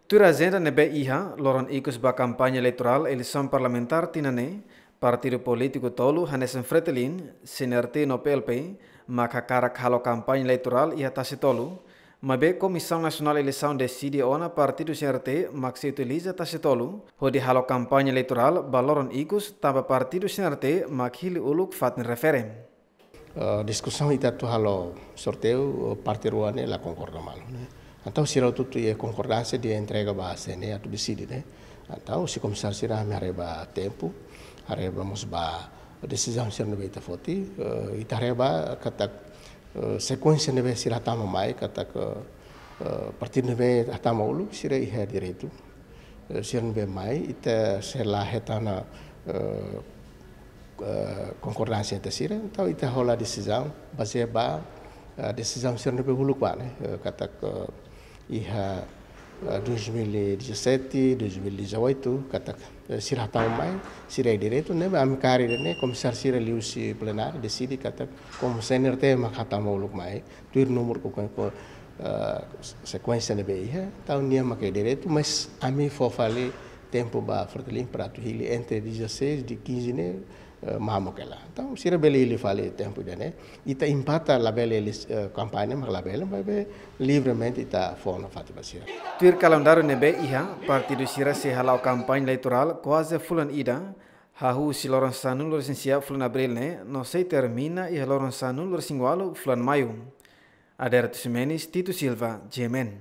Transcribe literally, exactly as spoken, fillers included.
Tuir ajenda ne'ebé iha loron ikus ba kampaña eleitorál eleisaun parlamentár tinan ne'e, partidu polítiku tolu hanesan Fretilin, C N R T no P L P mak hakarak halo kampaña eleitorál iha Tasi Tolu, maibé Komisaun Nasionál Eleisaun deside ona partidu C N R T mak sei utiliza Tasi Tolu hodi halo kampaña eleitorál ba loron ikus, tanba partidu C N R T mak hili uluk fatin refere. Eh, diskusaun ita atu halo sorteiu, eh, parte rua ne'e la konkorda malu ne'e. Entaun sira hotu-hotu iha konkordánsia de entrega ba C N E atu deside ne'e. Entaun husi komisáriu sira ami haree ba tempu, haree ba mós ba desizaun sira ne'ebé ita foti, eh, ita haree ba katak, eh, sekuénsia ne'ebé sira hatama mai, katak, eh, partidu ne'ebé hatama uluk sira iha direitu. Eh, sira ne'ebé mai, ita sei la hetan, eh, eh, konkordánsia entre sira, entaun ita hola desizaun bazeia ba, eh, desizaun sira ne'ebé uluk ba ne'e, eh, katak, eh, iha, eh, dois mil e dezassete, dois mil e dezoito, katak, eh, sira hatama mai, sira iha direitu, ne'ebé ami kaer ida-ne'e, komisáriu sira liuhusi plenária deside katak, komu C N R T mak hatama uluk mai, tuir númeru ko, ko, eh, sekuénsia ne'ebé iha, entaun nia mak iha direitu, mas ami fó fali tempu ba Fretilin para atu hili entre dezasseis, dia quinze ne'e, eh, mamuk hela. Entaun sira bele hili fali tempu ida-ne'e. Ita empata labele, eh, kampaña mak labele, maibé livremente ita fó nafatin ba sira. Tuir kalendáriu ne'ebé iha, partidu sira sei hala'o kampaña eleitorál kuaze fulan ida, hahú husi loron sanulu-resin-sia fulan Abríl ne'e, no sei termina iha loron sanulu-resin-ualu fulan Maiu. Adérito Ximenes, Tito Silva, G M N.